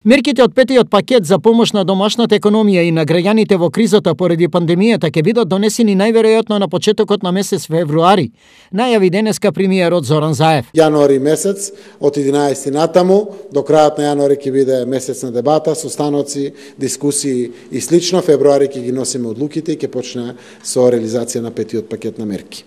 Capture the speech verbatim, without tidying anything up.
Мерките од петиот пакет за помош на домашната економија и на граѓаните во кризата поради пандемијата ќе бидат донесени најверојатно на почетокот на месец февруари, најави денеска премиерот Зоран Заев. Јануари месец, од единаесети натаму, до крајот на јануари ќе биде месец на дебата, состаноци, дискусии и слично. Февруари ќе ги носиме одлуките и ќе почне со реализација на петиот пакет на мерки.